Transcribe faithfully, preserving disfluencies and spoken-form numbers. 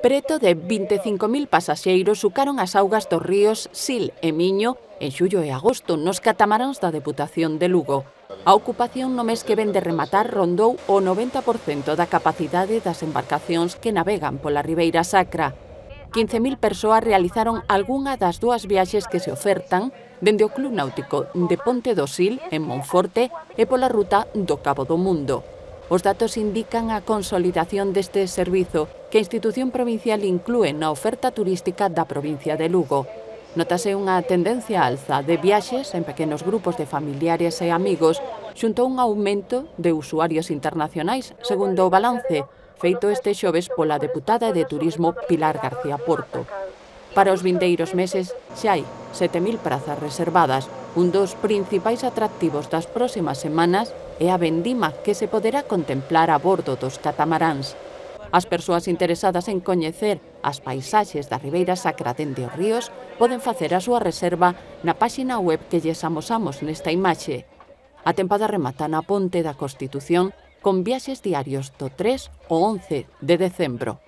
Preto de vinte e cinco mil pasaxeiros sucaron as augas dos ríos Sil e Miño en xullo e agosto nos catamaráns da Deputación de Lugo. A ocupación no mes que ven de rematar rondou o noventa por cento da capacidade das embarcacións que navegan pola Ribeira Sacra. quince mil persoas realizaron algunha das dúas viaxes que se ofertan dende o Club Náutico de Ponte do Sil, en Monforte, e pola ruta do Cabo do Mundo. Os datos indican a consolidación deste servizo que a institución provincial inclúe na oferta turística da provincia de Lugo. Notase unha tendencia á alza de viaxes en pequenos grupos de familiares e amigos xunto a un aumento de usuarios internacionais, segundo o balance feito este xoves pola deputada de Turismo Pilar García Porto. Para os vindeiros meses xa hai sete mil prazas reservadas. Un dos principais atractivos das próximas semanas é a vendima que se poderá contemplar a bordo dos catamaráns. As persoas interesadas en coñecer as paisaxes da Ribeira Sacra dende os ríos poden facer a súa reserva na páxina web que lles amosamos nesta imaxe. A tempada remata na Ponte da Constitución con viaxes diarios do tres ao once de decembro.